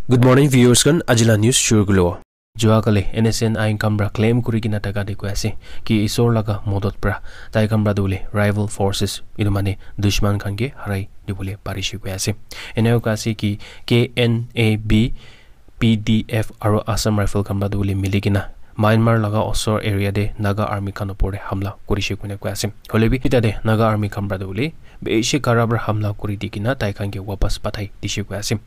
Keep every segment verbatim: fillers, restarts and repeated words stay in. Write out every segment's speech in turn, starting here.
Good morning, viewers khan. Ajila news shuru kulo. Jua kali N S N I khan pra claim kuri kena thaka dikhi ase ki isor laga modot pra tai khan pra tu hoile rival forces, etu mane dushman khan ke harai dibole parishe koi ase. Eneka ase ki K N A B, P D F aru Assam Rifle khan pra tu hoile mili kena Myanmar laga osor area te Naga army khan opor te hamla kurishe koina koi ase. Hoile bi tate Naga army khan pra tu hoile bishi kara pra hamla kuri di kena tai khan ke wapas pathai dishe koi ase.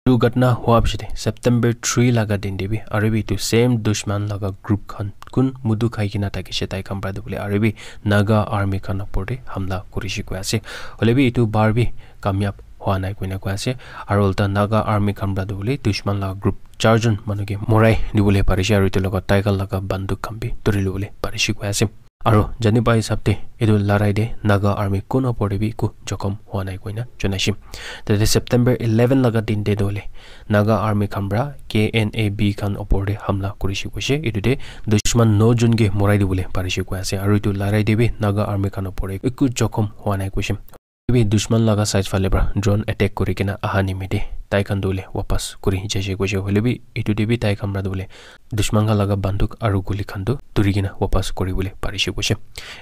Etu ghatna hua piche te September three laga din te bi aru bi etu same dushman laga group khan kun mudu khai kena thakishe tai khan pra tu hoile aru bi Naga army khan opor te hamla kurishe koi ase. Hoile bi etu bar bi kamyab hua nai koina koi ase. Aru ulta Naga army khan pra tu hoile dushman laga group charjon manu ke morai dibole parishe aru etu logot tai khan laga banduk khan bi turi lobole parishe koi ase. Aru jani pai hisab te etu larai te Naga army kun opor te bi eku jokhom hua nai koina janaishe. Tate September eleven laga din te tu hoile Naga army khan pra K N A B khan opor te hamla kurishe koishe. Etu te dushman no jon ke morai dibole parishe koi ase. Aru etu larai te bi Naga army khan opor te eku jokhom hua nai koishe. Bi dushman laga side phale pra drone attack kuri kena aha nimite tai khan tu hoile wapas kuri jaise koishe. Hoile bi etu te bi tai khan pra tu hoile dushman khan laga banduk aru guli khan tu turi kena wapas kuri bole parishe koishe.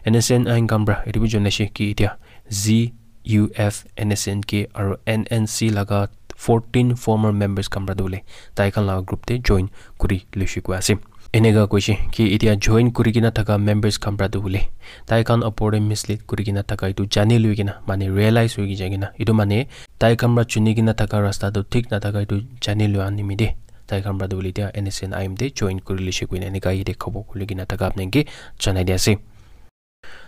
N S N I khan pra etu bi janaishe ki etia Z U F, N S N K aru N N C laga fourteen former members khan pra tu hoile tai khan laga group te join kuri loishe koi ase. Eneka koishe ki etia join kuri kena thaka members khan pra tu hoile tai khan opor te mislead kuri kena thaka etu jani loi kena mane realize hoi jai kena etu mane tai khan pra chuni kena thaka rasta tu thik na thaka etu jani lua nimite tai khan pra tu hoile etia N S N I te join kuri loishe koina eneka yate khobor kuri kena thaka apni ke janai di ase.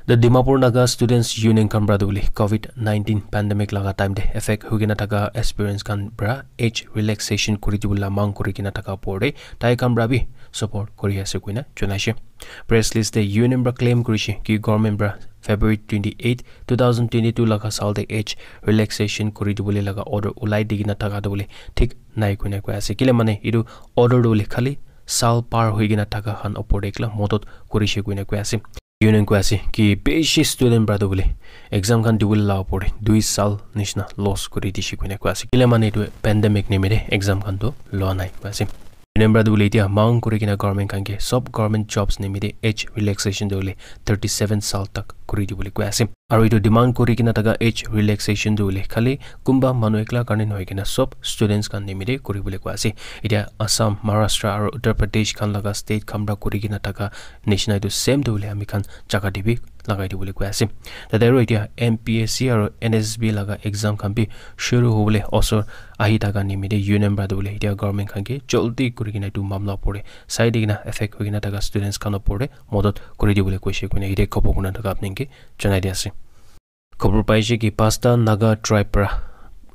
The Dimapur Naga Students Union khan pra tu hoile covid nineteen pandemic laga time te affect hoi kena thaka aspirants khan pra age relaxation kuri dibole mang kuri kena thaka opor te tai khan pra bi support kuri ase koina janaishe. Press release te union pra claim kurishe ki government pra February twenty-eight, two thousand twenty-two laga saal te age relaxation kuri dibole laga order ulai di kena thaka tu hoile thik nai koina koi ase. Kile mane etu order tu hoile khali saal par hoi kena thaka khan opor te ekla modot kurishe koina koi ase. Union koi ase ki bishi student pra tu hoile exam khan dibole la opor te dui saal nishina loss kuri dishe koina koi ase. Kile mane etu pandemic nimite exam khan tu lua nai koi ase. Union pra tu hoile etia mang kuri kena government khan ke sob government jobs nimite age relaxation tu hoile thirty seven saal tak kuri dibole koi ase. Aru etu demand kuri kena thaka age relaxation tu hoile khali kunba manu ekla karne nohoi kena sob students khan nimite kuri bole koi ase. Etia Assam, Maharashtra aru Uttar Pradesh khan laga state khan pra kuri kena thaka nishina etu same tu hoile ami khan jaga te bi lagai dibole koi ase. Tate aru etia M P S C aru N S S B laga exam khan bi shuru hobole osor ahi thaka nimite union pra tu hoile etia government khan ke jaldi kuri kena etu mamla opor te sai di kena affect hoi kena thaka students khan opor te modot kuri dibole koishe koina yate khobor kurina thaka apni ke janai di ase. Khobor paishe ki pasta Naga tribe pra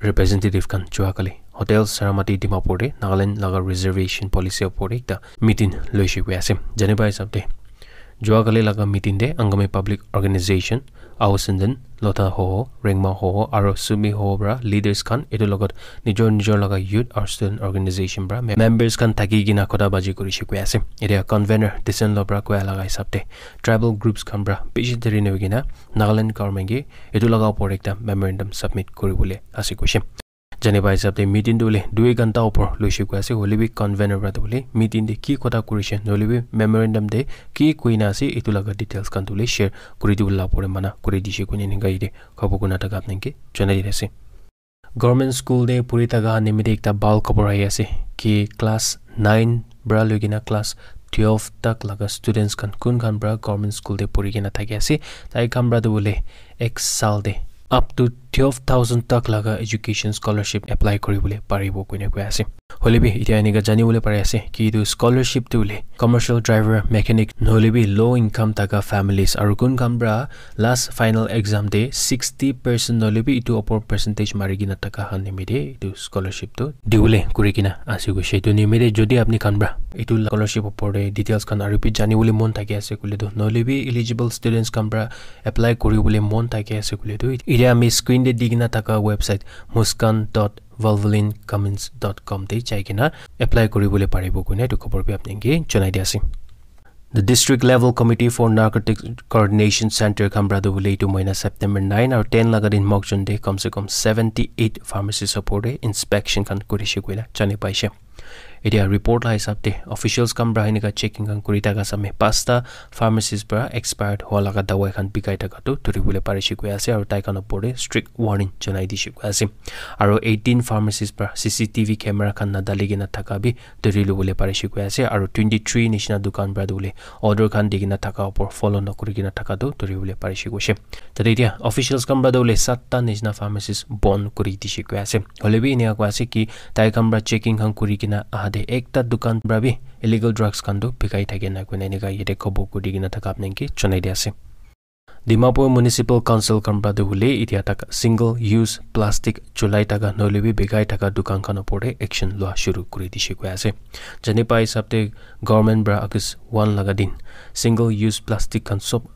representative khan jua kali Hotel Saramati Dimapur te Nagaland laga reservation policy opor te ekta meeting loishe koi ase. Jani pai hisab te jua kali laga meeting te Angami Public Organization, Ao Senden, Lotha Hoho, Rengma Hoho aru Sumi Hoho pra leaders khan etu logot nijor nijor laga youth aru student organization pra mem- members khan thaki kena kotha baji kurishe koi ase. Etia convener Disen Lo pra koa laga hisab te tribal groups khan pra bishi deri nahoi kena Nagaland government ke etu laga opor ekta memorandum submit kuri bole ase koishe. Jani pai hisab te meeting tu hoile dui ghanta opor loishe koi ase, hoile bi convener pra tu hoile meeting te ki kotha kurishe, nohole bi memorandum te ki koina ase, etu laga details khan tu hoile share kuri dibole la opor te mana kuri dishe koina eninka yate khobor kurina thaka apni ke janai di ase. Government school te puri thaka nimite ekta bhal khobor ahi ase ki class nine pra loi kena class twelve tak laga students khan kun khan pra government school te puri kena thaki ase, tai khan pra tu hoile ek saal te up to twelve thousand tak laga education scholarship apply kuri bole paribo koina koi ase. Hoile bi etia eninka jani bole pari ase ki etu scholarship tu hoile commercial driver, mechanic nohole bi low income thaka families aru kun khan pra last final exam te sixty percent nohole bi etu opor percentage mari kena thaka khan nimite etu scholarship tu dibole kuri kena ase koishe. Etu nimite jodi apni khan pra etu scholarship opor te details khan aru bi jani bole mon thaki ase koile tu, nohole bi eligible students khan pra apply kuri bole mon thaki ase koile tu, etia ami screen te di kena thaka website muskan dot valvoline cummins dot com te jai kena apply kuri bole paribo koina etu khobor bi apni ke janai di ase. The District Level Committee for Narcotics Coordination Center khan pra tu hoile etu mohina September nine aru ten laga din Mokokchung te kam se kam seventy eight pharmacy opor te inspection khan kurishe koina jani paishe. Etia report la hisab te officials khan pra enika checking khan kuri thaka same pasta pharmacies pra expired hua laga dawai khan bikai thaka tu dhuri bole parishe koi ase, aru tai khan opor te strict warning janai dishe koi ase. Aru eighteen pharmacies pra C C T V camera khan nadali kena thaka bi dhuri lobole parishe koi ase, aru twenty three nishina dukan pra tu bole order khan di kena thaka opor follow nokuri kena thaka tu dhuri bole parishe koishe. Tate etia officials khan pra tu bole satta nishina pharmacies bon kuri dishe koi ase. Hoile bi enika koi ase ki tai khan pra checking khan kuri kena aha te ekta dukan pra bi illegal drugs khan tu bikai thake na koina enika yate khobor kuri kena thaka apni ke janai di ase. Dimapur Municipal Council khan pra tu bole etia tak single use plastic chulai thaka nohole bi bikai thaka dukan khan opor te action lua shuru kuri dishe koi ase. Jani pai hisab te government pra August one laga din single use plastic khan sob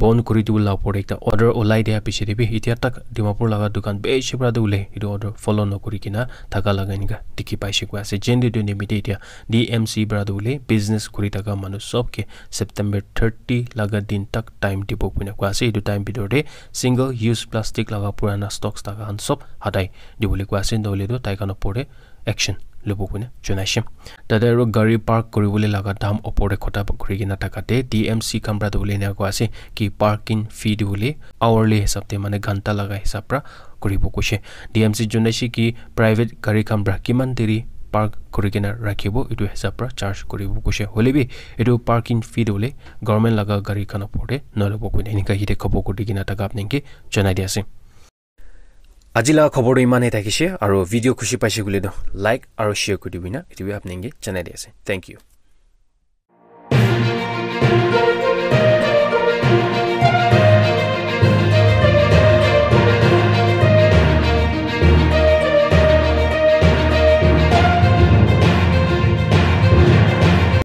bon kuri dibo la opor te ekta order ulai dia piche te bi etia tak Dimapur laga dukan bishi pra tu bole etu order follow nokuri kena thaka laga enika dikhi paishe koi ase. Jen de nimite etia D M C pra tu bole business kuri thaka manu sob ke September thirty laga din tak time dibo koina koi ase. Etu time bitor te single use plastic laga purana stocks thaka khan sob hatai dibole koi ase, nohole tu tai khan opor te action lobo koina janaishe. Tate aru gari park kuribole laga dam opor te khota kuri kena thaka te D M C khan pra tu bole enika koi ase ki parking fee tu bole hourly hisab te mane ghanta laga hisab pra kuribo koishe. D M C janaishe ki private gari khan pra kiman deri park kuri kena rakhibo etu hisab pra charge kuribo koishe. Hoile bi etu parking fee tu bole government laga gari khan opor te nolobo koina enika yate khobor kuri kena thaka apni ke janai di ase. Aji laga khobor tu iman he thakishe, aru video khushi paishe koile tu like aru share kuri dibi na etu bi apni ke janai di ase. Thank you.